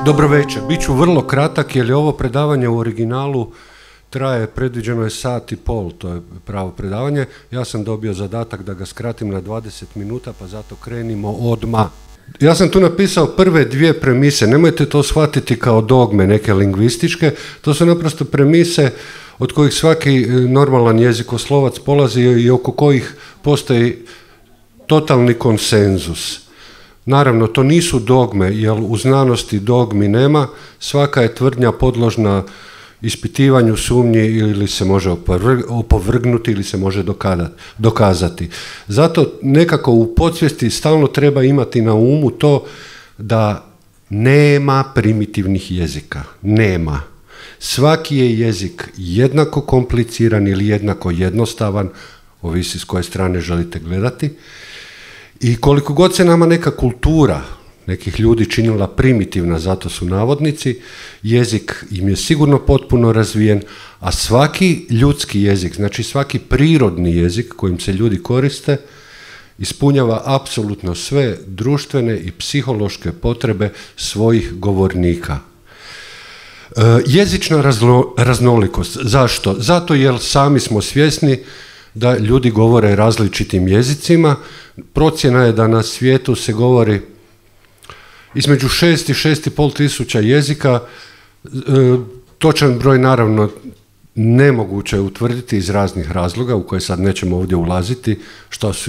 Dobro večer, bit ću vrlo kratak jer je ovo predavanje u originalu traje, predviđeno je 1,5 sata, to je pravo predavanje. Ja sam dobio zadatak da ga skratim na 20 minuta, pa zato krenimo odmah. Ja sam tu napisao prve dvije premise, nemojte to shvatiti kao dogme neke lingvističke, to su naprosto premise od kojih svaki normalan jezikoslovac polazi i oko kojih postoji totalni konsenzus. Naravno, to nisu dogme, jer u znanosti dogmi nema, svaka je tvrdnja podložna ispitivanju, sumnji ili se može opovrgnuti ili se može dokazati. Zato nekako u podsvijesti stalno treba imati na umu to da nema primitivnih jezika. Nema. Svaki je jezik jednako kompliciran ili jednako jednostavan, ovisi s koje strane želite gledati. I koliko god se nama neka kultura nekih ljudi činila primitivna, zato su navodnici, jezik im je sigurno potpuno razvijen, a svaki ljudski jezik, znači svaki prirodni jezik kojim se ljudi koriste, ispunjava apsolutno sve društvene i psihološke potrebe svojih govornika. Jezična raznolikost. Zašto? Zato jer sami smo svjesni da ljudi govore različitim jezicima. Procjena je da na svijetu se govori između 6 i 6,5 tisuća jezika. Točan broj naravno nemoguće je utvrditi iz raznih razloga u koje sad nećemo ovdje ulaziti,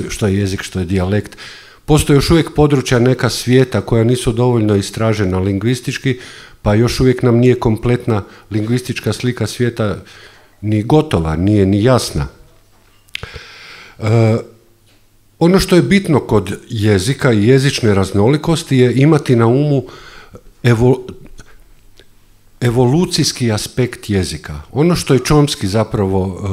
što je jezik, što je dijalekt. Postoje još uvijek područja neka svijeta koja nisu dovoljno istražena lingvistički, pa još uvijek nam nije kompletna lingvistička slika svijeta ni gotova, nije ni jasna. Ono što je bitno kod jezika i jezične raznolikosti je imati na umu evolucijski aspekt jezika. Ono što je Chomsky zapravo,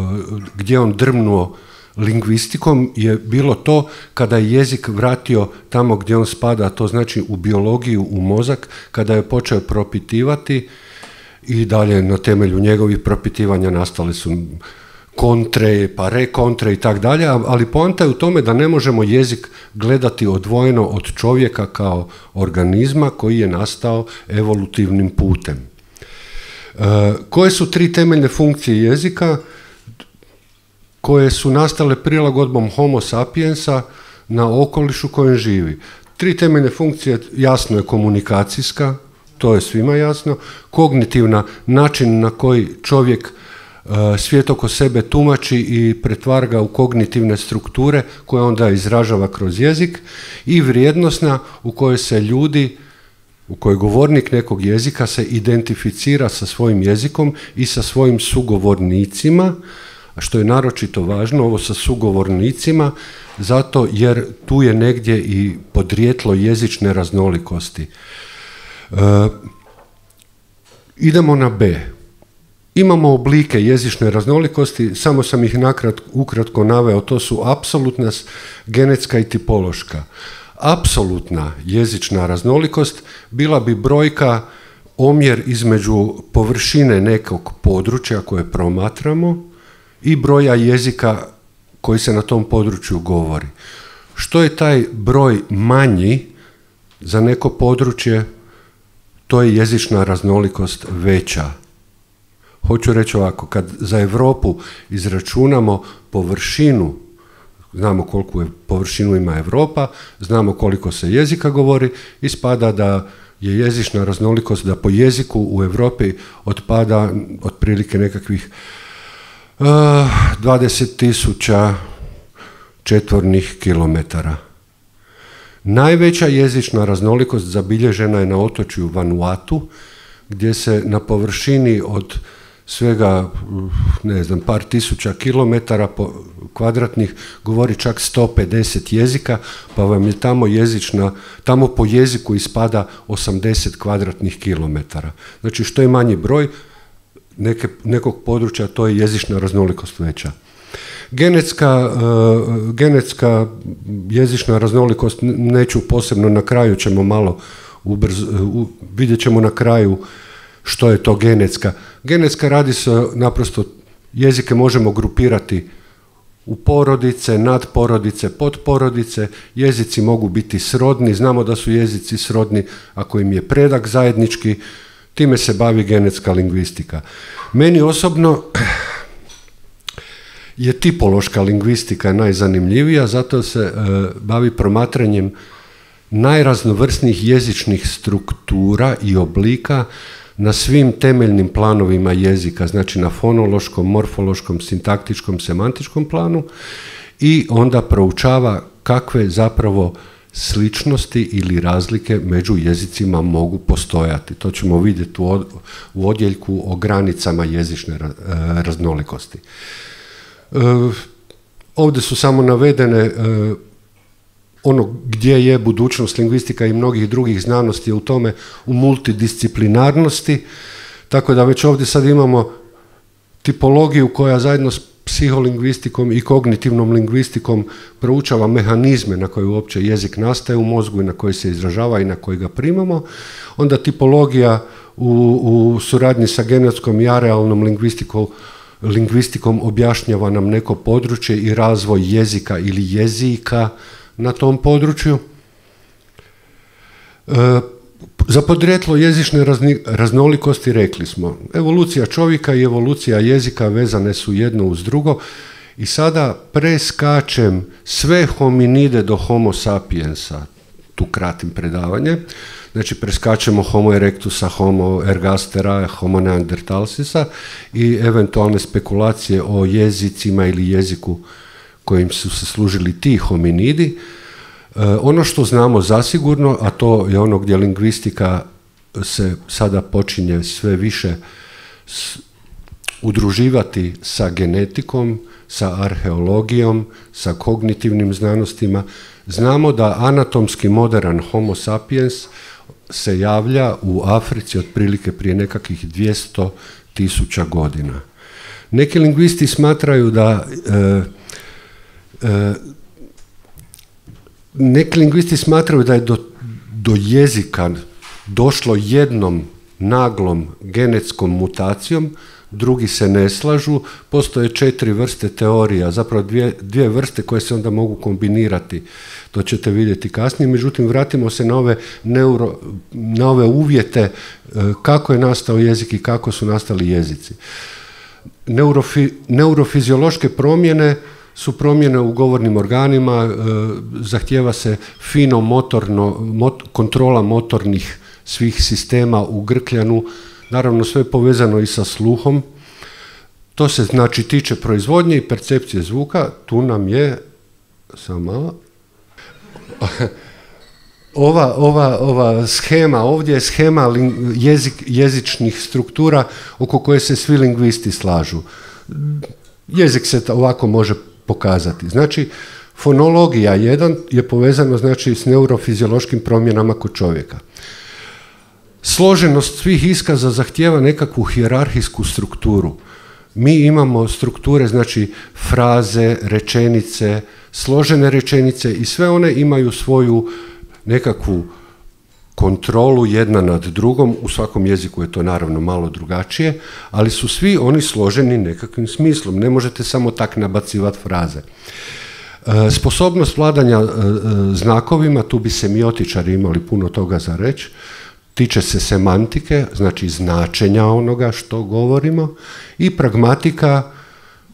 gdje on drmnuo lingvistikom, je bilo to kada je jezik vratio tamo gdje on spada, to znači u biologiju, u mozak, kada je počeo propitivati i dalje na temelju njegovih propitivanja nastale su kontre, pa rekontre i tak dalje, ali poanta je u tome da ne možemo jezik gledati odvojeno od čovjeka kao organizma koji je nastao evolutivnim putem. Koje su tri temeljne funkcije jezika koje su nastale prilagodbom Homo sapiensa na okolišu kojem živi? Tri temeljne funkcije, jasno je komunikacijska, to je svima jasno, kognitivna, način na koji čovjek svijet oko sebe tumači i pretvara ga u kognitivne strukture koje onda izražava kroz jezik, i vrijednosna u kojoj se ljudi, u kojoj govornik nekog jezika se identificira sa svojim jezikom i sa svojim sugovornicima, a što je naročito važno, ovo sa sugovornicima, zato jer tu je negdje i podrijetlo jezične raznolikosti. Idemo na B. Imamo oblike jezične raznolikosti, samo sam ih ukratko naveo, to su apsolutna, genetska i tipološka. Apsolutna jezična raznolikost bila bi brojka, omjer između površine nekog područja koje promatramo i broja jezika koji se na tom području govori. Što je taj broj manji za neko područje, to je jezična raznolikost veća. Hoću reći ovako, kad za Europu izračunamo površinu, znamo koliku površinu ima Europa, znamo koliko se jezika govori, ispada da je jezična raznolikost, da po jeziku u Europi otpada otprilike nekakvih 20.000 četvornih kilometara. Najveća jezična raznolikost zabilježena je na otočju Vanuatu, gdje se na površini od svega, ne znam, par tisuća kilometara kvadratnih govori čak 150 jezika, pa vam je tamo po jeziku ispada 80 kvadratnih kilometara. Znači, što je manji broj nekog područja, to je jezična raznolikost veća. Genetska jezična raznolikost, neću posebno, na kraju ćemo malo vidjet ćemo na kraju što je to genetska. Genetska radi se naprosto, jezike možemo grupirati u porodice, nadporodice, podporodice, jezici mogu biti srodni, znamo da su jezici srodni ako im je predak zajednički, time se bavi genetska lingvistika. Meni osobno je tipološka lingvistika najzanimljivija, zato se bavi promatranjem najraznovrsnijih jezičnih struktura i oblika na svim temeljnim planovima jezika, znači na fonološkom, morfološkom, sintaktičkom, semantičkom planu i onda proučava kakve zapravo sličnosti ili razlike među jezicima mogu postojati. To ćemo vidjeti u odjeljku o granicama jezične raznolikosti. Ovdje su samo navedene ono gdje je budućnost lingvistika i mnogih drugih znanosti je u tome, u multidisciplinarnosti, tako da već ovdje sad imamo tipologiju koja zajedno s psiholingvistikom i kognitivnom lingvistikom proučava mehanizme na koje uopće jezik nastaje u mozgu i na koji se izražava i na koji ga primamo. Onda tipologija u suradnji sa genetskom i arealnom lingvistikom objašnjava nam neko područje i razvoj jezika ili jezika na tom području. Za podrijetlo jezične raznolikosti rekli smo, evolucija čovjeka i evolucija jezika vezane su jedno uz drugo i sada preskačem sve hominide do homo sapiensa, tu kratim predavanje, znači preskačemo homo erectusa, homo ergastera, homo neandertalsisa i eventualne spekulacije o jezicima ili jeziku kojim su se služili ti hominidi. Ono što znamo zasigurno, a to je ono gdje lingvistika se sada počinje sve više udruživati sa genetikom, sa arheologijom, sa kognitivnim znanostima. Znamo da anatomski moderan homo sapiens se javlja u Africi otprilike prije nekakvih 200.000 godina. Neki lingvisti smatraju da neki lingvisti smatraju da je do jezika došlo jednom naglom genetskom mutacijom, drugi se ne slažu, postoje 4 vrste teorija, zapravo dvije vrste koje se onda mogu kombinirati, to ćete vidjeti kasnije, međutim vratimo se na ove uvjete kako je nastao jezik i kako su nastali jezici. Neurofiziološke promjene su promjene u govornim organima, zahtijeva se kontrola motornih svih sistema u grkljanu, naravno sve povezano i sa sluhom. To se znači tiče proizvodnje i percepcije zvuka, tu nam je, samo malo, ova schema, ovdje je schema jezičnih struktura oko koje se svi lingvisti slažu. Jezik se ovako može pokazati. Znači, fonologija jedan je povezano znači s neurofiziološkim promjenama kod čovjeka. Složenost svih iskaza zahtijeva nekakvu hijerarhijsku strukturu. Mi imamo strukture, znači fraze, rečenice, složene rečenice i sve one imaju svoju nekakvu kontrolu jedna nad drugom, u svakom jeziku je to naravno malo drugačije, ali su svi oni složeni nekakvim smislom, ne možete samo tak nabacivati fraze. Sposobnost vladanja znakovima, tu bi semiotičari imali puno toga za reći, tiče se semantike, znači značenja onoga što govorimo, i pragmatika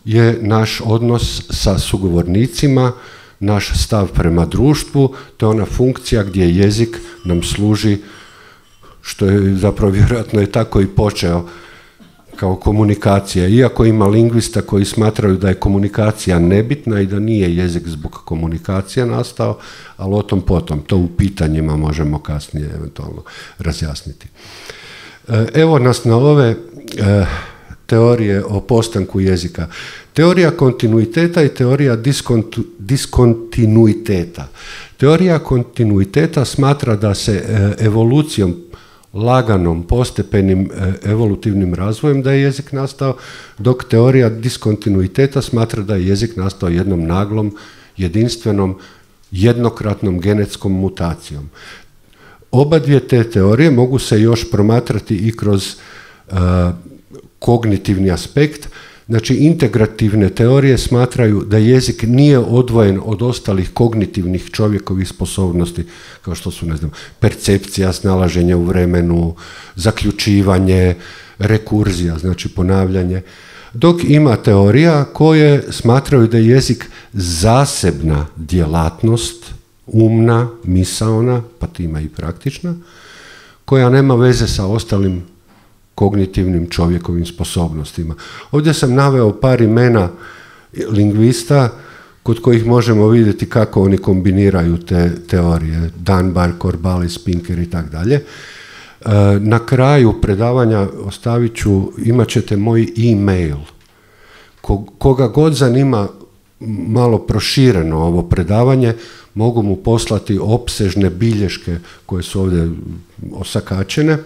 je naš odnos sa sugovornicima, naš stav prema društvu, to je ona funkcija gdje jezik nam služi, što je zapravo vjerojatno je tako i počeo kao komunikacija. Iako ima lingvista koji smatraju da je komunikacija nebitna i da nije jezik zbog komunikacije nastao, ali o tom potom, to u pitanjima možemo kasnije eventualno razjasniti. Evo nas na ove teorije o postanku jezika. Teorija kontinuiteta i teorija diskontinuiteta. Teorija kontinuiteta smatra da se evolucijom, laganom, postepenim evolutivnim razvojem da je jezik nastao, dok teorija diskontinuiteta smatra da je jezik nastao jednom naglom, jedinstvenom, jednokratnom genetskom mutacijom. Oba dvije te teorije mogu se još promatrati i kroz kognitivni aspekt. Znači, integrativne teorije smatraju da jezik nije odvojen od ostalih kognitivnih čovjekovih sposobnosti, kao što su, ne znam, percepcija, snalaženje u vremenu, zaključivanje, rekurzija, znači ponavljanje. Dok ima teorija koje smatraju da je jezik zasebna djelatnost, umna, misaona, pa time i praktična, koja nema veze sa ostalim kognitivnim čovjekovim sposobnostima. Ovdje sam naveo par imena lingvista kod kojih možemo vidjeti kako oni kombiniraju te teorije. Dunbar, Corbalis, Pinker i tako dalje. Na kraju predavanja ostavit ću, imat ćete moj e-mail. Koga god zanima malo prošireno ovo predavanje, mogu mu poslati opsežne bilješke koje su ovdje osakačene,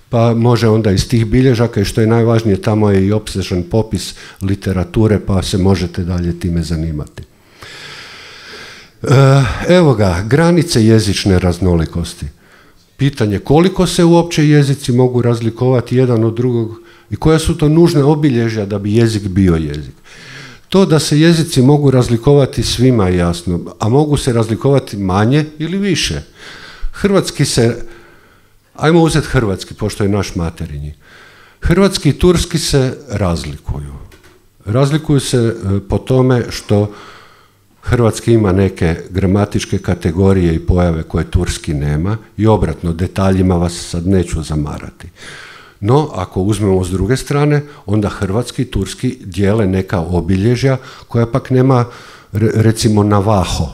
pa može onda iz tih bilježaka, i što je najvažnije, tamo je i opsežan popis literature, pa se možete dalje time zanimati. Evo ga, granice jezične raznolikosti. Pitanje koliko se uopće jezici mogu razlikovati jedan od drugog i koja su to nužne obilježja da bi jezik bio jezik. To da se jezici mogu razlikovati svima je jasno, a mogu se razlikovati manje ili više. Hrvatski se, ajmo uzeti hrvatski, pošto je naš materinji. Hrvatski i turski se razlikuju. Razlikuju se po tome što hrvatski ima neke gramatičke kategorije i pojave koje turski nema i obratno, detaljima vas sad neću zamarati. No, ako uzmemo s druge strane, onda hrvatski i turski dijele neka obilježja koja pak nema, recimo, navaho.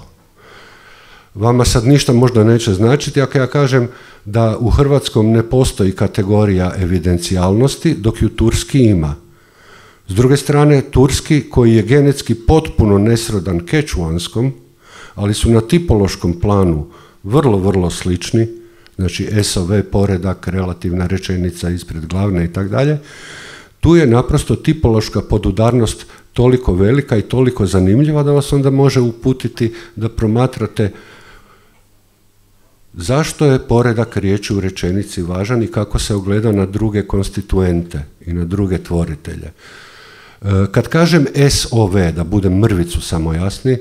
Vama sad ništa možda neće značiti ako ja kažem da u hrvatskom ne postoji kategorija evidencijalnosti, dok ju turski ima. S druge strane, turski, koji je genetski potpuno nesrodan kečuanskom, ali su na tipološkom planu vrlo, vrlo slični, znači SOV, poredak, relativna rečenica ispred glavne i tako dalje, tu je naprosto tipološka podudarnost toliko velika i toliko zanimljiva da vas onda može uputiti da promatrate zašto je poredak riječi u rečenici važan i kako se ogleda na druge konstituente i na druge tvoritelje. Kad kažem SOV, da budem mrvicu samo jasni,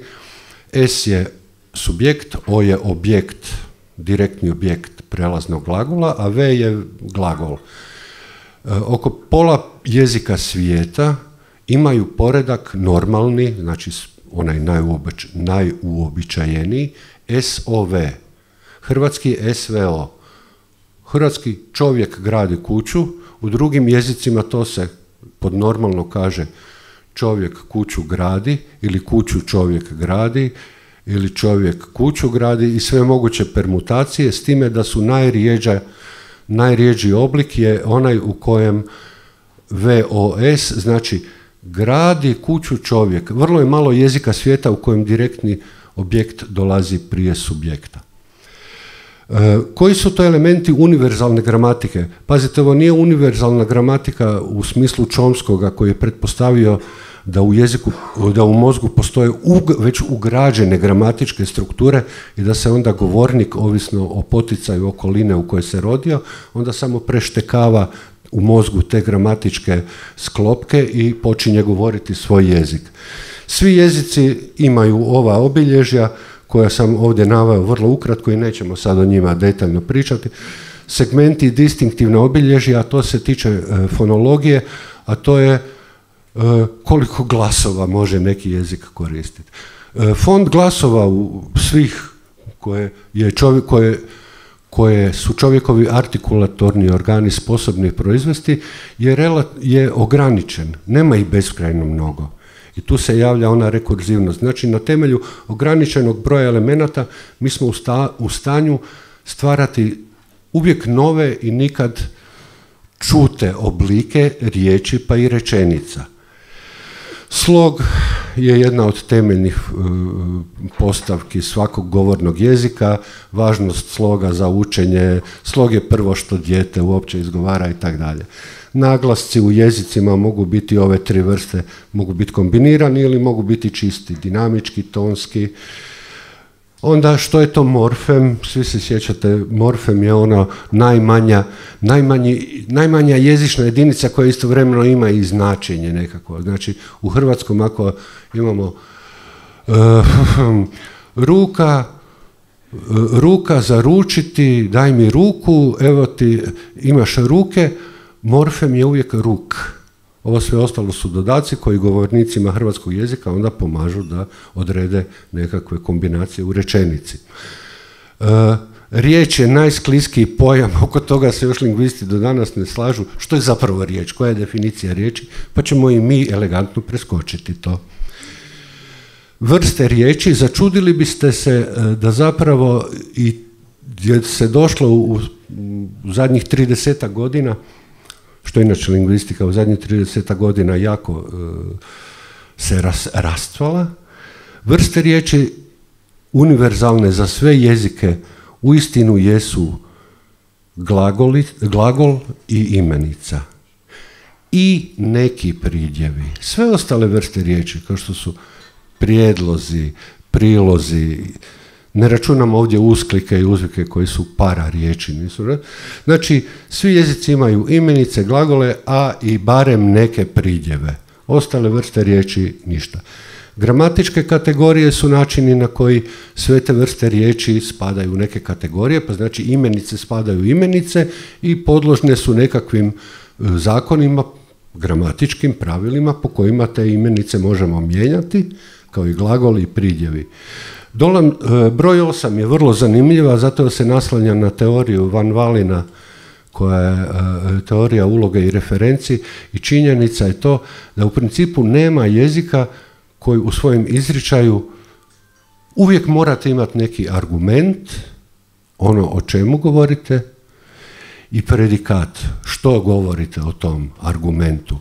S je subjekt, O je objekt, direktni objekt prelaznog glagola, a V je glagol. Oko pola jezika svijeta imaju poredak normalni, znači onaj najuobičajeniji, SOV. Hrvatski SVO. Hrvatski čovjek gradi kuću, u drugim jezicima to se pod normalno kaže čovjek kuću gradi, ili kuću čovjek gradi, ili čovjek kuću gradi i sve moguće permutacije, s time da su najrjeđi oblik je onaj u kojem VOS, znači gradi kuću čovjek. Vrlo je malo jezika svijeta u kojem direktni objekt dolazi prije subjekta. Koji su to elementi univerzalne gramatike? Pazite, ovo nije univerzalna gramatika u smislu Chomskoga koji je pretpostavio da u jeziku, da u mozgu postoje već ugrađene gramatičke strukture i da se onda govornik, ovisno o poticaju okoline u kojoj se rodio, onda samo preštekava u mozgu te gramatičke sklopke i počinje govoriti svoj jezik. Svi jezici imaju ova obilježja koja sam ovdje naveo vrlo ukratko i nećemo sad o njima detaljno pričati. Segmenti i distinktivna obilježja, a to se tiče fonologije, a to je koliko glasova može neki jezik koristiti. Fond glasova u svih koje su čovjekovi artikulatorni organi sposobni proizvesti je ograničen, nema ih beskrajno mnogo. I tu se javlja ona rekurzivnost. Znači, na temelju ograničenog broja elemenata mi smo u stanju stvarati uvijek nove i nikad čute oblike riječi pa i rečenica. Slog je jedna od temeljnih postavki svakog govornog jezika, važnost sloga za učenje, slog je prvo što dijete uopće izgovara i tako dalje. Naglasci u jezicima mogu biti ove tri vrste, mogu biti kombinirani ili mogu biti čisti, dinamički, tonski. Onda što je to morfem? Svi se sjećate, morfem je ono najmanja jezična jedinica koja istovremeno ima i značenje nekako. Znači u hrvatskom ako imamo ruka za ručiti, daj mi ruku, evo ti imaš ruke, morfem je uvijek ruk. Ovo sve ostalo su dodaci koji govornicima hrvatskog jezika onda pomažu da odrede nekakve kombinacije u rečenici. Riječ je najskliskiji pojam, oko toga se još lingvisti do danas ne slažu. Što je zapravo riječ? Koja je definicija riječi? Pa ćemo i mi elegantno preskočiti to. Vrste riječi, začudili biste se da zapravo i se došlo u zadnjih 30 godina, što je inače lingvistika u zadnjih 30 godina jako se rastvala. Vrste riječi univerzalne za sve jezike uistinu jesu glagol i imenica. I neki pridjevi. Sve ostale vrste riječi, kao što su prijedlozi, prilozi, ne računam ovdje usklike i uzvike koji su para riječi. Nisu, znači, svi jezici imaju imenice, glagole, a i barem neke pridjeve. Ostale vrste riječi ništa. Gramatičke kategorije su načini na koji sve te vrste riječi spadaju u neke kategorije, pa znači imenice spadaju u imenice i podložne su nekakvim zakonima, gramatičkim pravilima po kojima te imenice možemo mijenjati, kao i glagoli i pridjevi. Broj 8 je vrlo zanimljiva, zato se naslanja na teoriju Van Valina, koja je teorija uloge i referenci, i činjenica je to da u principu nema jezika koji u svojem izričaju uvijek morate imati neki argument, ono o čemu govorite, i predikat, što govorite o tom argumentu.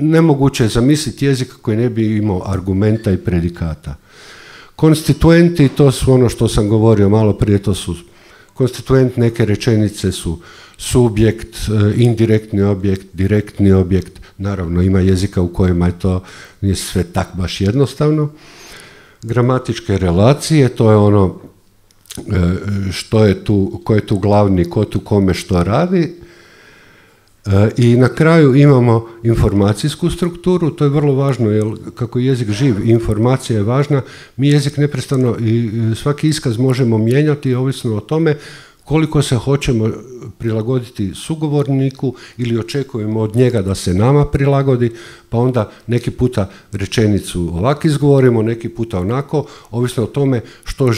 Nemoguće je zamisliti jezik koji ne bi imao argumenta i predikata. Konstituenti, to su ono što sam govorio malo prije, to su konstituent, neke rečenice su subjekt, indirektni objekt, direktni objekt, naravno ima jezika u kojima je to nije sve tak baš jednostavno. Gramatičke relacije, to je ono što je tu, ko je tu glavni, ko tu kome što radi. I na kraju imamo informacijsku strukturu, to je vrlo važno, jer kako je jezik živ, informacija je važna, mi jezik neprestano i svaki iskaz možemo mijenjati ovisno o tome koliko se hoćemo prilagoditi sugovorniku ili očekujemo od njega da se nama prilagodi, pa onda neki puta rečenicu ovako izgovorimo, neki puta onako, ovisno o tome što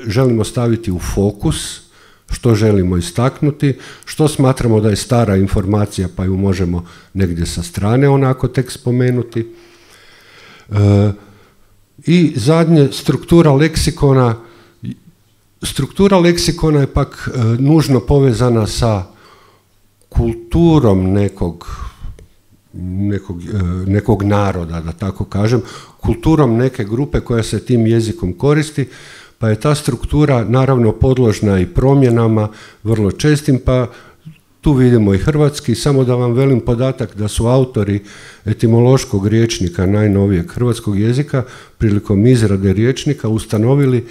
želimo staviti u fokus, što želimo istaknuti, što smatramo da je stara informacija pa ju možemo negdje sa strane onako tek spomenuti. I zadnje, struktura leksikona. Struktura leksikona je pak nužno povezana sa kulturom nekog naroda, da tako kažem, kulturom neke grupe koja se tim jezikom koristi, pa je ta struktura naravno podložna i promjenama, vrlo čestim, pa tu vidimo i hrvatski. Samo da vam velim podatak da su autori etimološkog rječnika najnovijeg hrvatskog jezika prilikom izrade rječnika ustanovili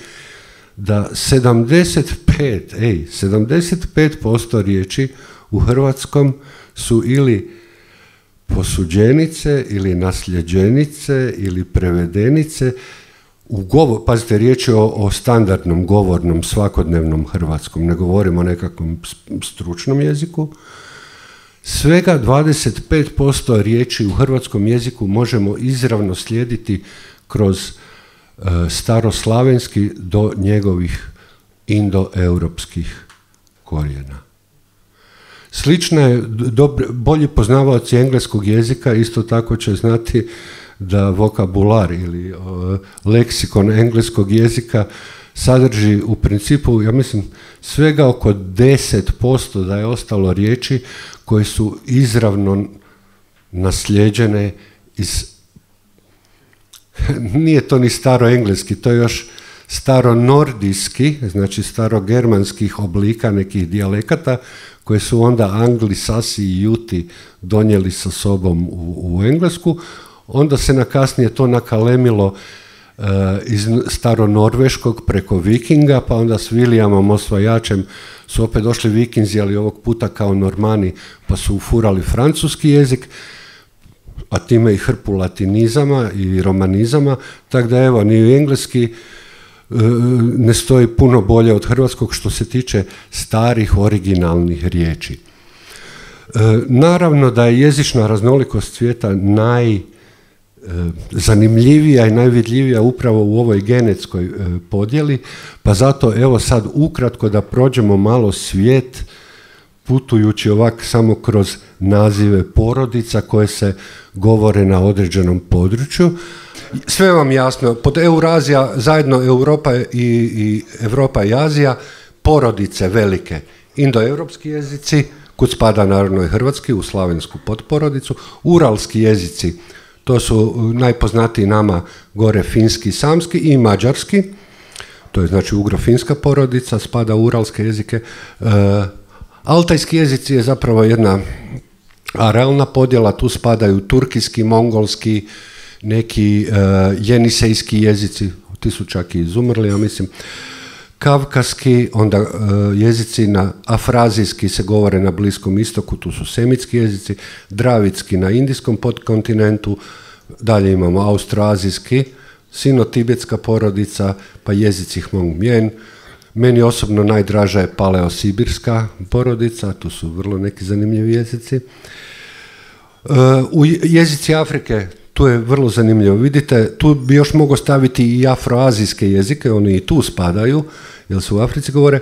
da 75% riječi u hrvatskom su ili posuđenice, ili nasljeđenice, ili prevedenice. Pazite, riječ je o standardnom, govornom, svakodnevnom hrvatskom, ne govorimo o nekakvom stručnom jeziku. Svega 25% riječi u hrvatskom jeziku možemo izravno slijediti kroz staroslavenski do njegovih indoeuropskih korijena. Slično je, bolji poznavaoci engleskog jezika isto tako će znati da vokabular ili leksikon engleskog jezika sadrži u principu, ja mislim, svega oko 10% da je ostalo riječi koje su izravno naslijeđene iz, nije to ni staroengleski, to je još staronordijski, znači starogermanskih oblika nekih dijalekata koje su onda Angli, Sasi i Juti donijeli sa sobom u Englesku. Onda se kasnije to nakalemilo iz staronorveškog preko vikinga, pa onda s Vilijamom osvajačem su opet došli vikinzi, ali ovog puta kao normani, pa su ufurali francuski jezik, a time i hrpu latinizama i romanizama, tako da evo, ni engleski ne stoji puno bolje od hrvatskog što se tiče starih originalnih riječi. Naravno da je jezična raznolikost svijeta najzanimljivija i najvidljivija upravo u ovoj genetskoj podjeli, pa zato evo sad ukratko da prođemo malo svijet putujući ovak samo kroz nazive porodica koje se govore na određenom području. Sve vam jasno, pod Eurazija, zajedno Europa i Europa i Azija, porodice velike, indoeuropski jezici, kud spada naravno i hrvatski, u slavensku potporodicu, uralski jezici, to su najpoznatiji nama gore finski, samski i mađarski, to je znači ugro-finska porodica, spada u uralske jezike. Altajski jezici je zapravo jedna arealna podjela, tu spadaju turkijski, mongolski, neki jenisejski jezici, ti su čak i izumrli, ja mislim, kavkaski, onda jezici na afrazijski se govore na Bliskom istoku, tu su semitski jezici, dravitski na indijskom podkontinentu, dalje imamo austroazijski, sino-tibetska porodica, pa jezici Hmong-Mien. Meni osobno najdraža je paleosibirska porodica, tu su vrlo neki zanimljivi jezici. U jezici Afrike, tu je vrlo zanimljivo. Vidite, tu bi još mogao staviti i afroazijske jezike, oni i tu spadaju, jer se u Africi govore.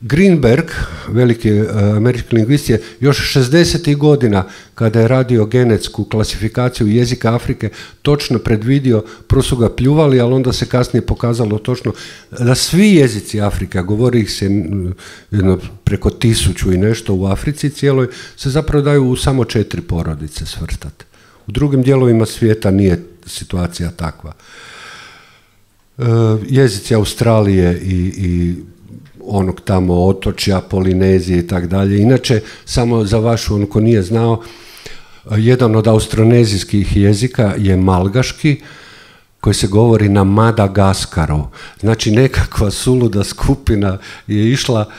Greenberg, veliki američki lingvist, je još 60. godina, kada je radio genetsku klasifikaciju jezika Afrike, točno predvidio, prvo su ga pljuvali, ali onda se kasnije pokazalo točno da svi jezici Afrike, govori ih se preko 1000 i nešto u Africi cijeloj, se zapravo daju u samo 4 porodice svrstati. U drugim dijelovima svijeta nije situacija takva. Jezici Australije i onog tamo otočja, Polinezije i tako dalje. Inače, samo za vašu, on ko nije znao, jedan od austronezijskih jezika je malgaški, koji se govori na Madagaskaru. Znači, nekakva suluda skupina je išla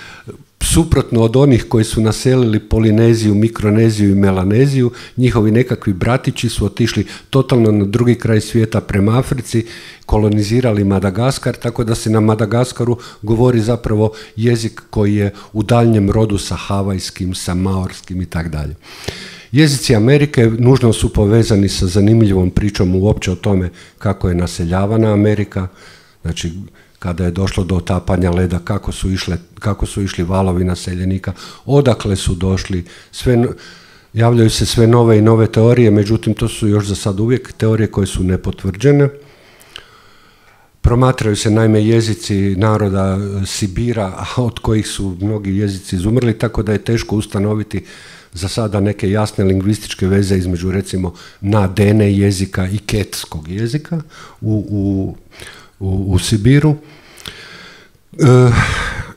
suprotno od onih koji su naselili Polineziju, Mikroneziju i Melaneziju. Njihovi nekakvi bratići su otišli totalno na drugi kraj svijeta prema Africi, kolonizirali Madagaskar, tako da se na Madagaskaru govori zapravo jezik koji je u daljnjem rodu sa havajskim, sa maorskim i tako dalje. Jezici Amerike nužno su povezani sa zanimljivom pričom uopće o tome kako je naseljavana Amerika, znači kada je došlo do otapanja leda, kako su išli valovi naseljenika, odakle su došli, javljaju se sve nove i nove teorije, međutim to su još za sad uvijek teorije koje su nepotvrđene. Promatraju se naime jezici naroda Sibira, od kojih su mnogi jezici izumrli, tako da je teško ustanoviti za sada neke jasne lingvističke veze između recimo nadene jezika i ketskog jezika u Sibiru.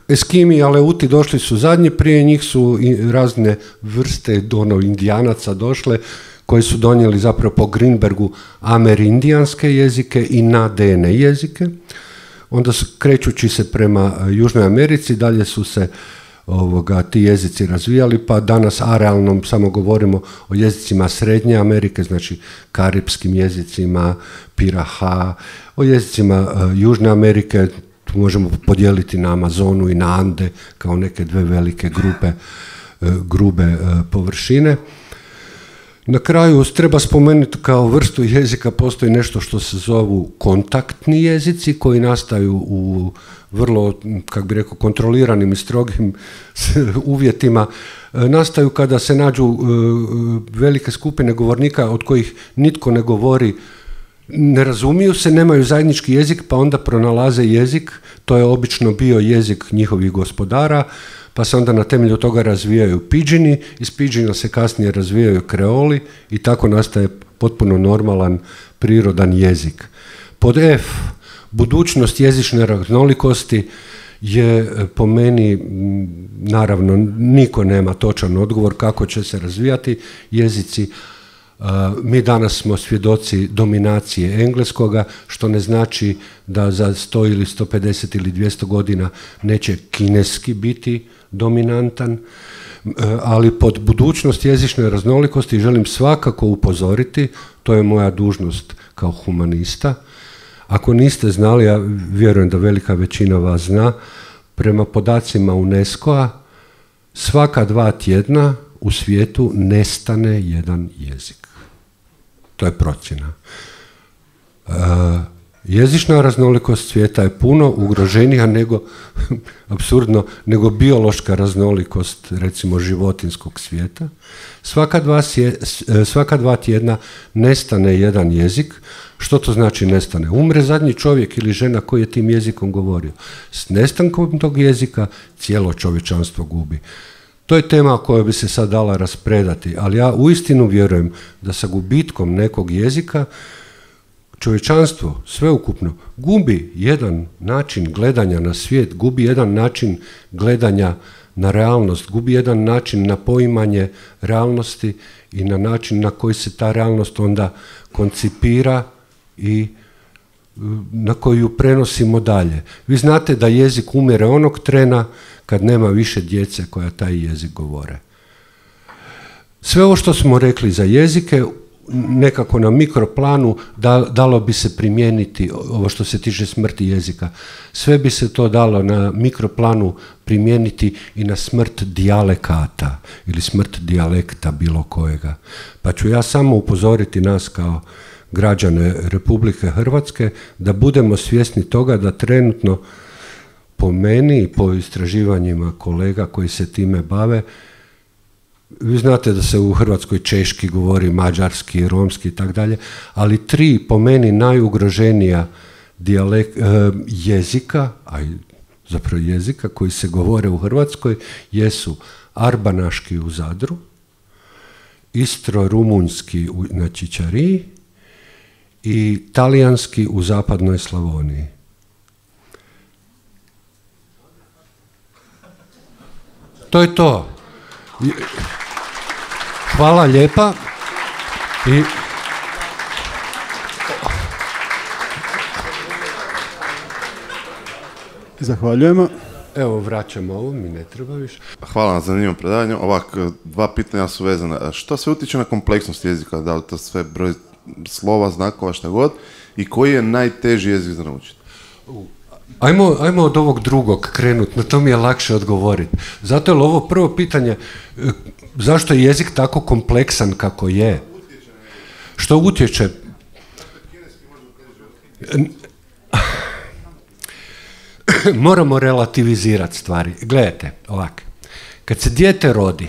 Eskimi i Aleuti došli su zadnji, prije njih su razne vrste indijanaca došle, koji su donijeli zapravo po Greenbergu amerindijanske jezike i nadene jezike. Onda krećući se prema Južnoj Americi, dalje su se ti jezici razvijali, pa danas arealnom samo govorimo o jezicima Srednje Amerike, znači karipskim jezicima, Piraha, o jezicima Južne Amerike, tu možemo podijeliti na Amazonu i na Ande kao neke dve velike grube površine. Na kraju treba spomenuti kao vrstu jezika postoji nešto što se zovu kontaktni jezici koji nastaju u vrlo, kako bi rekao, kontroliranim i strogim uvjetima. Nastaju kada se nađu velike skupine govornika od kojih nitko ne govori, ne razumiju se, nemaju zajednički jezik, pa onda pronalaze jezik, to je obično bio jezik njihovih gospodara, pa se onda na temelju toga razvijaju pidžini, iz pidžina se kasnije razvijaju kreoli i tako nastaje potpuno normalan, prirodan jezik. Pod F, budućnost jezične raznolikosti je po meni, naravno, niko nema točan odgovor kako će se razvijati jezici. Mi danas smo svjedoci dominacije engleskoga, što ne znači da za 100 ili 150 ili 200 godina neće kineski biti dominantan, ali pod budućnost jezične raznolikosti želim svakako upozoriti, to je moja dužnost kao humanista. Ako niste znali, ja vjerujem da velika većina vas zna, prema podacima UNESCO-a svaka 2 tjedna u svijetu nestane jedan jezik. To je procjena. Jezična raznolikost svijeta je puno ugroženija nego, apsurdno, nego biološka raznolikost, recimo, životinskog svijeta. Svaka 2 tjedna nestane jedan jezik. Što to znači nestane? Umre zadnji čovjek ili žena koji je tim jezikom govorio. S nestankom tog jezika cijelo čovječanstvo gubi. To je tema koja bi se sad dala raspredati, ali ja uistinu vjerujem da sa gubitkom nekog jezika čovječanstvo sveukupno gubi jedan način gledanja na svijet, gubi jedan način gledanja na realnost, gubi jedan način na poimanje realnosti i na način na koji se ta realnost onda koncipira i na koju prenosimo dalje. Vi znate da jezik umire onog trena kad nema više djece koja taj jezik govore. Sve ovo što smo rekli za jezike, nekako na mikroplanu dalo bi se primijeniti, ovo što se tiče smrti jezika, sve bi se to dalo na mikroplanu primijeniti i na smrt dijalekata ili smrt dijalekta bilo kojega. Pa ću ja samo upozoriti nas kao građane Republike Hrvatske da budemo svjesni toga da trenutno po meni i po istraživanjima kolega koji se time bave, vi znate da se u Hrvatskoj češki govori, mađarski, romski i tako dalje, ali 3 po meni najugroženija jezika, a zapravo jezika koji se govore u Hrvatskoj jesu arbanaški u Zadru, istro-rumunjski na Čičariji i talijanski u zapadnoj Slavoniji. To je to. Hvala lijepa. I zahvaljujemo. Evo, vraćamo ovo, mi ne treba više. Hvala na zanimljivom predavanju. Ovako, 2 pitanja su vezana. Što sve utječe na kompleksnost jezika? Da li to sve broj slova, znakova, šta god? I koji je najteži jezik za naučiti? Ajmo od ovog drugog krenuti, na to mi je lakše odgovoriti. Zato je ovo prvo pitanje, zašto je jezik tako kompleksan kako je? Što utječe? Moramo relativizirati stvari. Gledajte, ovako, kad se dijete rodi,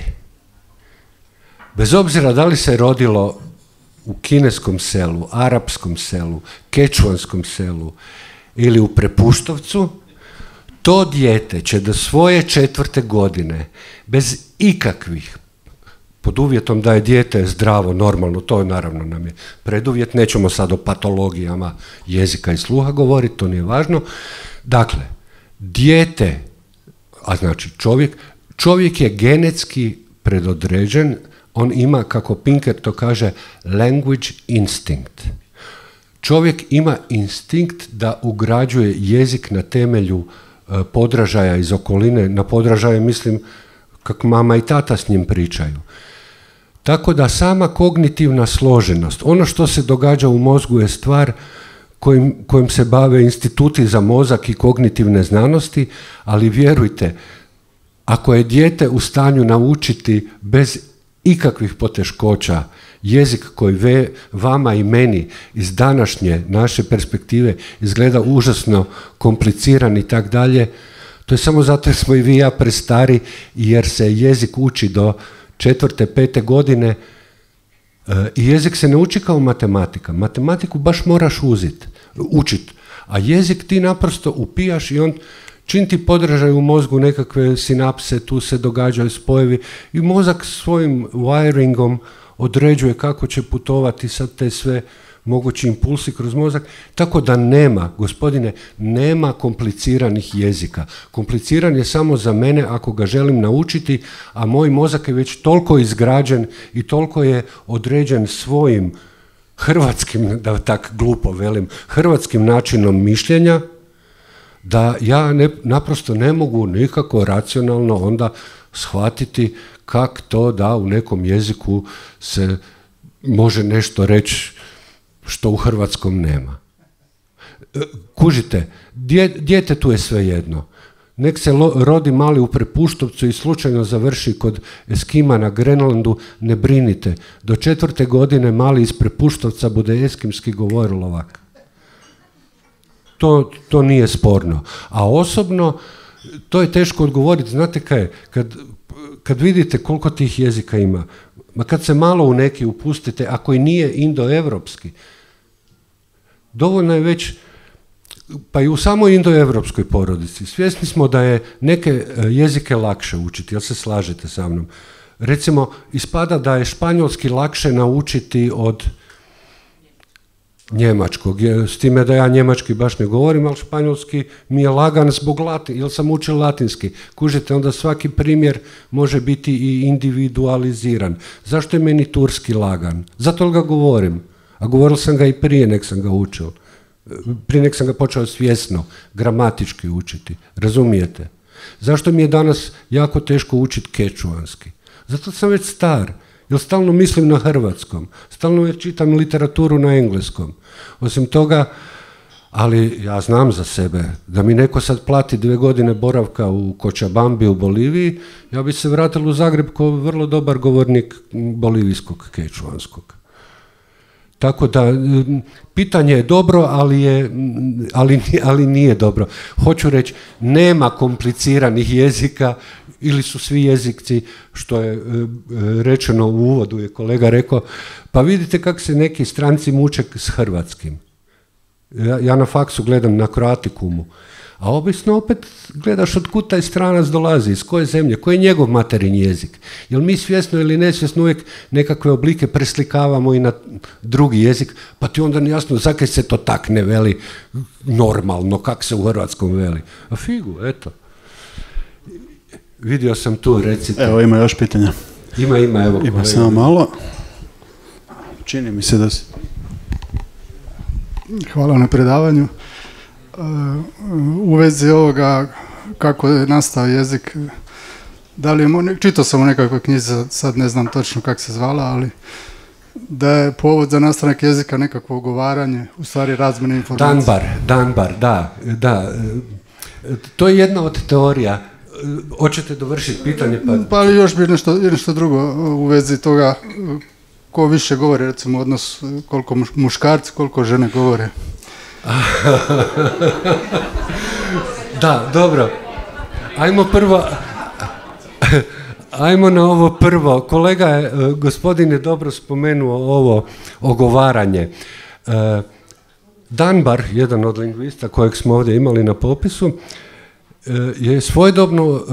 bez obzira da li se rodilo u kineskom selu, arapskom selu, kečuanskom selu ili u Prepuštovcu, to dijete će do svoje 4. godine bez ikakvih, pod uvjetom da je dijete zdravo, normalno, to je naravno nam je preduvjet, nećemo sad o patologijama jezika i sluha govoriti, to nije važno. Dakle, dijete, a znači čovjek je genetski predodređen, on ima, kako Pinker to kaže, language instinct. Čovjek ima instinkt da ugrađuje jezik na temelju podražaja iz okoline, na podražaje mislim kako mama i tata s njim pričaju. Tako da sama kognitivna složenost, ono što se događa u mozgu je stvar kojim se bave instituti za mozak i kognitivne znanosti, ali vjerujte, ako je dijete u stanju naučiti bez ikakvih poteškoća jezik koji vama i meni iz današnje naše perspektive izgleda užasno kompliciran i tak dalje, to je samo zato jer smo i vi i ja prestari jer se jezik uči do 4. 5. godine i jezik se ne uči kao matematika. Matematiku baš moraš učiti, a jezik ti naprosto upijaš i on čim ti podražaju u mozgu nekakve sinapse, tu se događaju spojevi i mozak svojim wiringom određuje kako će putovati sad te sve mogući impulsi kroz mozak, tako da nema, gospodine, nema kompliciranih jezika. Kompliciran je samo za mene ako ga želim naučiti, a moj mozak je već toliko izgrađen i toliko je određen svojim hrvatskim, da tak glupo velim, hrvatskim načinom mišljenja, da ja naprosto ne mogu nikako racionalno onda shvatiti kako to da u nekom jeziku se može nešto reći što u hrvatskom nema. Kužite, djetetu je svejedno. Nek se rodi mali u Prepuštovcu i slučajno završi kod Eskima na Grenlandu, ne brinite. Do 4. godine mali iz Prepuštovca bude eskimski govorilovak. To nije sporno. A osobno, to je teško odgovoriti. Znate kaj je? Kad vidite koliko tih jezika ima, ma kad se malo u neki upustite, ako i nije indoevropski, dovoljno je već, pa i u samoj indoevropskoj porodici, svjesni smo da je neke jezike lakše učiti, jel se slažete sa mnom? Recimo, ispada da je španjolski lakše naučiti od njemačkog, s time da ja njemački baš ne govorim, ali španjolski mi je lagan zbog jer sam učio latinski. Kužite, onda svaki primjer može biti i individualiziran. Zašto je meni turski lagan? Zato ga govorim. A govoril sam ga i prije nek sam ga učio. Prije nek sam ga počeo svjesno, gramatički učiti. Razumijete? Zašto mi je danas jako teško učiti kečuanski? Zato sam već star. Jer stalno mislim na hrvatskom, stalno čitam literaturu na engleskom. Osim toga, ali ja znam za sebe, da mi neko sad plati 2 godine boravka u Kočabambi u Boliviji, ja bi se vratila u Zagreb kao vrlo dobar govornik bolivijskog kečuanskog. Tako da, pitanje je dobro, ali nije dobro. Hoću reći, nema kompliciranih jezika, ili su svi jezici, što je rečeno u uvodu, je kolega rekao, pa vidite kako se neki stranci muče s hrvatskim. Ja na faksu gledam na Croaticumu, a obično opet gledaš od kud taj stranac dolazi, iz koje zemlje, koji je njegov materin jezik. Jer mi svjesno ili nesvjesno uvijek nekakve oblike preslikavamo i na drugi jezik, pa ti onda jasno zakaj se to tak ne veli normalno, kak se u hrvatskom veli. A figu, eto. Vidio sam tu, recite. Evo, ima još pitanja. Ima, evo. Ima samo malo. Čini mi se da si... Hvala na predavanju. U vezi ovoga kako je nastao jezik, da li je, čitao sam u nekakvoj knjizi, sad ne znam točno kako se zvala, ali da je povod za nastanak jezika nekakvo ugovaranje, u stvari razmjene informacije. Danbar, da. To je jedna od teorija. Hoćete dovršiti pitanje? Pa još bi nešto drugo u vezi toga, ko više govori, recimo odnos koliko muškarci, koliko žene govore. Da, dobro. Ajmo na ovo prvo. Kolega je, gospodin je dobro spomenuo ovo ogovaranje. Danbar, jedan od lingvista kojeg smo ovdje imali na popisu, je svojedobno,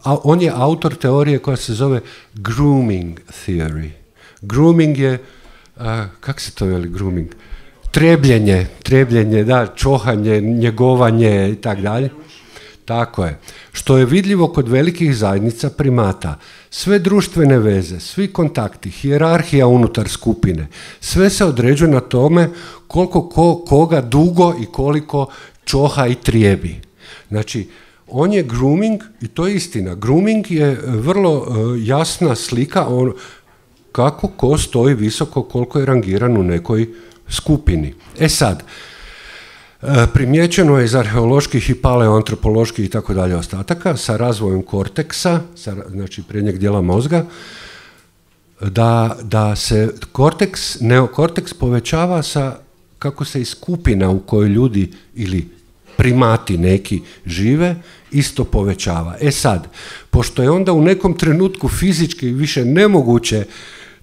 on je autor teorije koja se zove grooming theory. Grooming je, kako se to veli grooming? Trebljenje, da, čohanje, njegovanje i tako dalje. Tako je. Što je vidljivo kod velikih zajednica primata. Sve društvene veze, svi kontakti, hijerarhija unutar skupine, sve se određuje na tome koliko koga dugo i koliko čoha i trijebi. Znači, on je grooming, i to je istina, grooming je vrlo jasna slika kako ko stoji visoko, koliko je rangiran u nekoj skupini. E sad, primjećeno je iz arheoloških i paleoantropoloških i tako dalje ostataka sa razvojem korteksa, znači prednjeg dijela mozga, da se neokorteks povećava sa kako se i skupina u kojoj ljudi ili primati neki žive, isto povećava. E sad, pošto je onda u nekom trenutku fizički više nemoguće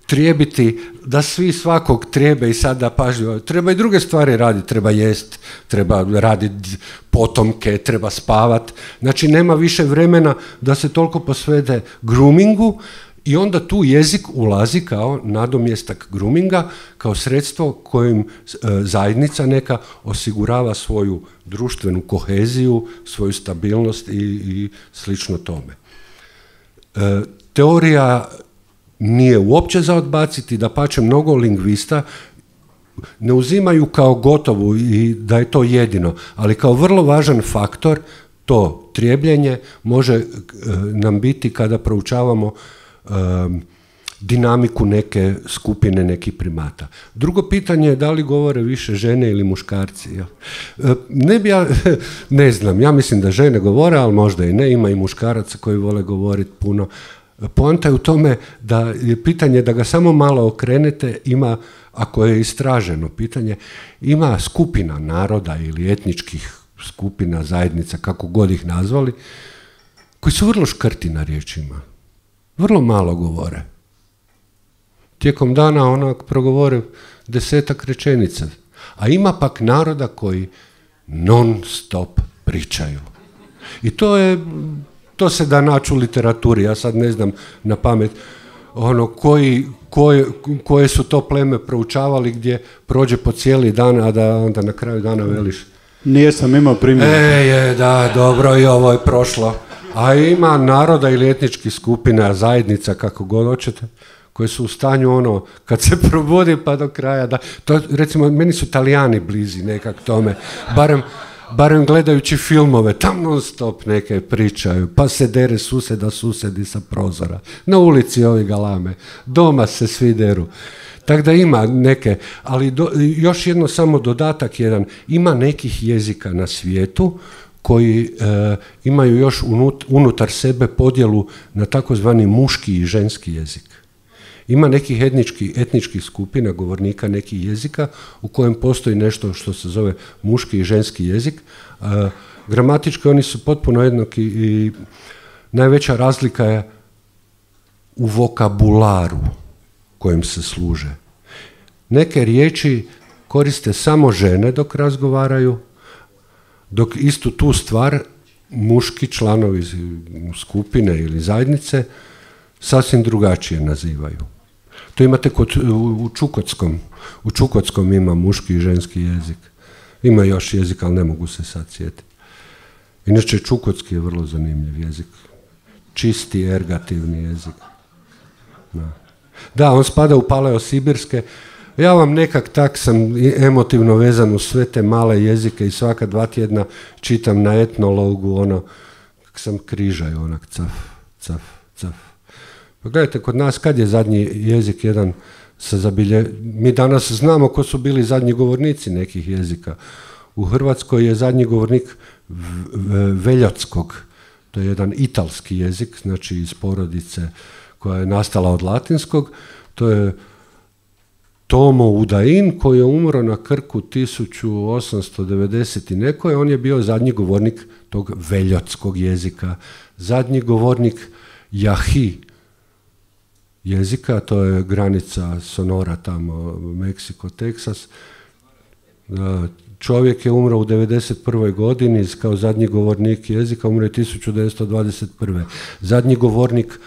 trijebiti da svi svakog trijebe i sada pažljivo, treba i druge stvari raditi, treba jest, treba raditi potomke, treba spavat, znači nema više vremena da se toliko posvede groomingu I onda tu jezik ulazi kao nadomjestak groominga, kao sredstvo kojim zajednica neka osigurava svoju društvenu koheziju, svoju stabilnost i slično tome. Teorija nije uopće za odbaciti, dapače mnogo lingvista ne uzimaju kao gotovu i da je to jedino, ali kao vrlo važan faktor to trijebljenje može nam biti kada proučavamo dinamiku neke skupine, nekih primata. Drugo pitanje je da li govore više žene ili muškarci. Ne znam, ja mislim da žene govore, ali možda i ne, ima i muškaraca koji vole govoriti puno. Poanta je u tome da je pitanje da ga samo malo okrenete, ima, ako je istraženo pitanje, ima skupina naroda ili etničkih skupina, zajednica, kako god ih nazvali, koji su vrlo škrti na riječima. Vrlo malo govore. Tijekom dana onak progovore 10 rečenica. A ima pak naroda koji non stop pričaju. I to se da naći u literaturi. Ja sad ne znam na pamet koje su to pleme proučavali gdje prođe po cijeli dan, a da onda na kraju dana veliš. Nijesam imao primjer. Da, dobro, i ovo je prošlo. A ima naroda ili etničkih skupina, zajednica, kako god hoćete, koje su u stanju kad se probudi pa do kraja, recimo, meni su Talijani blizi nekak tome, barem gledajući filmove, tam non stop neke pričaju, pa se dere susedi sa prozora, na ulici ovi galame, doma se svi deru. Tako da ima neke, ali još jedno samo dodatak jedan, ima nekih jezika na svijetu koji imaju još unutar sebe podjelu na takozvani muški i ženski jezik. Ima nekih etničkih skupina, govornika nekih jezika u kojem postoji nešto što se zove muški i ženski jezik. Gramatički oni su potpuno jednaki i najveća razlika je u vokabularu kojim se služe. Neke riječi koriste samo žene dok razgovaraju, dok istu tu stvar muški članovi skupine ili zajednice sasvim drugačije nazivaju. To imate u Čukotskom. U Čukotskom ima muški i ženski jezik. Ima još jezik, ali ne mogu se sad sjetiti. Inače, čukotski je vrlo zanimljiv jezik. Čisti, ergativni jezik. Da, on spada u paleosibirske. Ja vam nekak tak sam emotivno vezan u sve te male jezike i svaka 2 tjedna čitam na etnologu, kak sam križaj, onak caf. Pa gledajte, kod nas kad je zadnji jezik jedan mi danas znamo ko su bili zadnji govornici nekih jezika. U Hrvatskoj je zadnji govornik Veljotskog, to je jedan italski jezik, znači iz porodice koja je nastala od latinskog, to je Tomo Udain koji je umro na Krku 1890 i nekoj, on je bio zadnji govornik tog veljotskog jezika. Zadnji govornik Jahi jezika, to je granica Sonora tamo, Meksiko, Teksas. Čovjek je umro u 1991. godini kao zadnji govornik jezika, umro je 1921. Zadnji govornik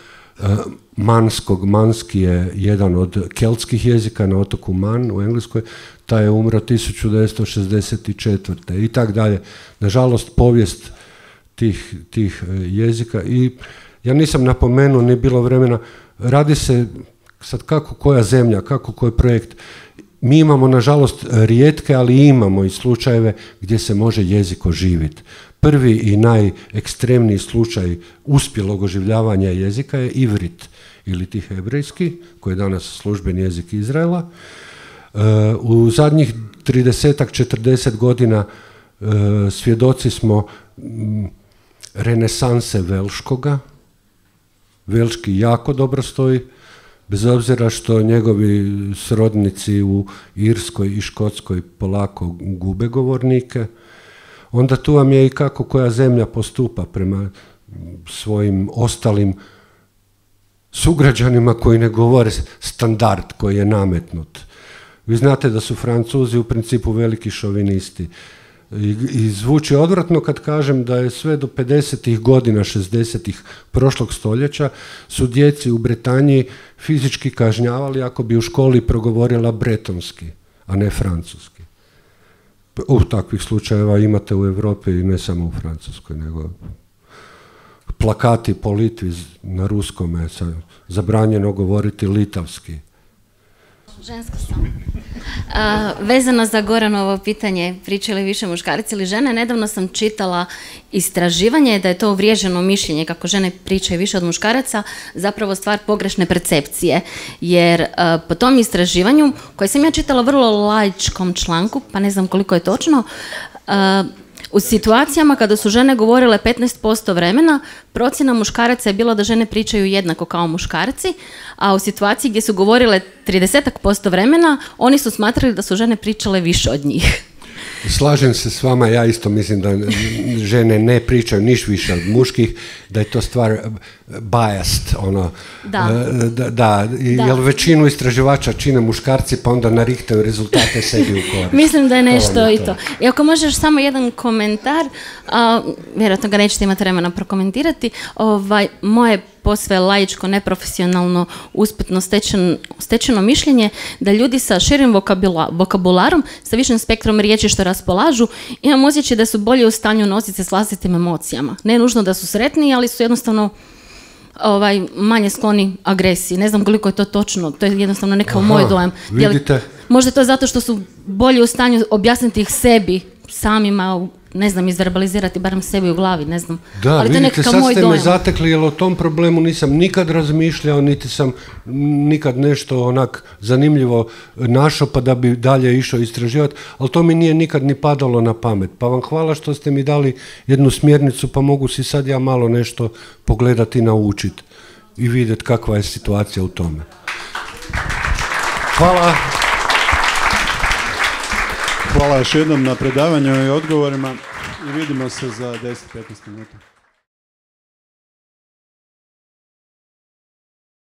manski je jedan od keltskih jezika na otoku Man u Engleskoj, taj je umro 1964. i tak dalje. Nažalost, povijest tih jezika i ja nisam napomenuo, nije bilo vremena, radi se sad kako koja zemlja, kako koji projekt. Mi imamo, nažalost, rijetke, ali imamo i slučajeve gdje se može jezik oživiti. Prvi i najekstremniji slučaj uspjelog oživljavanja jezika je ivrit ili ti hebrejski, koji je danas službeni jezik Izraela. U zadnjih 30-40 godina svjedoci smo renesanse velškoga. Velški jako dobro stoji, bez obzira što njegovi srodnici u Irskoj i Škotskoj polako gube govornike. Onda tu vam je i kako koja zemlja postupa prema svojim ostalim sugrađanima koji ne govore standard koji je nametnut. Vi znate da su Francuzi u principu veliki šovinisti. I zvuči odvratno kad kažem da je sve do 50. godina, 60. prošlog stoljeća su djeci u Britaniji fizički kažnjavali ako bi u školi progovorila bretonski, a ne francuski. Takvih slučajeva imate u Europi i ne samo u Francuskoj, nego plakati po Litvi na ruskome, zabranjeno govoriti litavski. Žensko sam. Vezano za Goranovo pitanje, pričaju li više muškarci ili žene, nedavno sam čitala istraživanje da je to uvriježeno mišljenje kako žene pričaju više od muškaraca, zapravo stvar pogrešne percepcije. Jer po tom istraživanju, koje sam ja čitala vrlo laičkom članku, pa ne znam koliko je točno, u situacijama kada su žene govorile 15% vremena, procjena muškaraca je bila da žene pričaju jednako kao muškarci, a u situaciji gdje su govorile 30% vremena, oni su smatrali da su žene pričale više od njih. Slažem se s vama, ja isto mislim da žene ne pričaju niš više od muških, da je to stvar biased, ono. Da. Jer većinu istraživača čine muškarci, pa onda narihtaju rezultate sebi u korist. Mislim da je nešto i to. I ako možeš samo jedan komentar, vjerojatno ga nećete imati vremena prokomentirati, moje posve laičko, neprofesionalno, usputno stečeno mišljenje da ljudi sa širim vokabularom, sa višim spektrom riječi što raspolažu, imam osjećaj da su bolje u stanju nositi se s vlastitim emocijama. Ne nužno da su sretni, ali su jednostavno manje skloni agresiji. Ne znam koliko je to točno, to je jednostavno nekakav moj dojam. Vidite. Možda je to zato što su bolje u stanju objasniti ih sebi, samima, ne znam, izverbalizirati barem sebi u glavi, ne znam. Da, ali vidite, sad ste me zatekli, jer o tom problemu nisam nikad razmišljao, niti sam nikad nešto onak zanimljivo našao pa da bi dalje išao istraživati, ali to mi nije nikad ni padalo na pamet. Pa vam hvala što ste mi dali jednu smjernicu, pa mogu si sad ja malo nešto pogledati i naučiti i vidjeti kakva je situacija u tome. Hvala. Hvala još jednom na predavanju i odgovorima i vidimo se za 10-15 minuta.